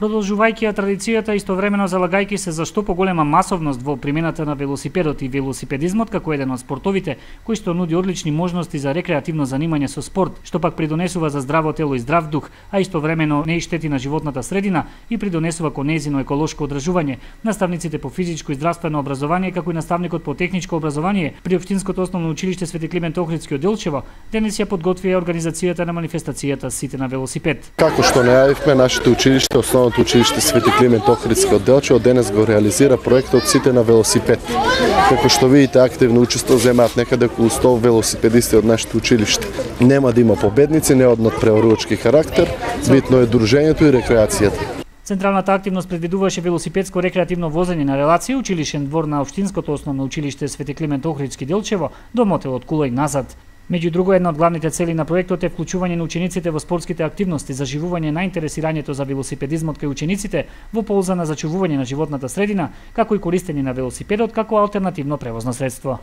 Продолжувајќи ја традицијата, истовремено залагајќи се за што поголема масовност во примената на велосипедот и велосипедизмот како еден од спортовите кој што нуди одлични можности за рекреативно занимање со спорт, што пак придонесува за здраво тело и здрав дух, а истовремено не и штети на животната средина и придонесува кон нејзино еколошко одржување. Наставниците по физичко и здравствено образование, како и наставникот по техничко образование при Општинското основно училиште Свети Климент Охридски од Делчево, денес ја подготвија организацијата на манифестацијата Сите на велосипед. Како што најавивме, нашето училиште, Основното училиште Свети Климент Охридски од Делчево, денес го реализира проектот Сите на велосипед. Како што видите, активно учество земаат некаде околу 100 велосипедисти од нашето училиште. Нема да има победници, не од надпреварувачки карактер, битно е дружењето и рекреацијата. Централната активност предвидуваше велосипедско рекреативно возење на релација училишен двор на Општинското основно училиште Свети Климент Охридски Делчево до мотел од Кула и назад. Меѓу друго, една од главните цели на проектот е вклучување на учениците во спортските активности, заживување на интересирањето за велосипедизмот кај учениците во полза на зачувување на животната средина, како и користење на велосипедот како алтернативно превозно средство.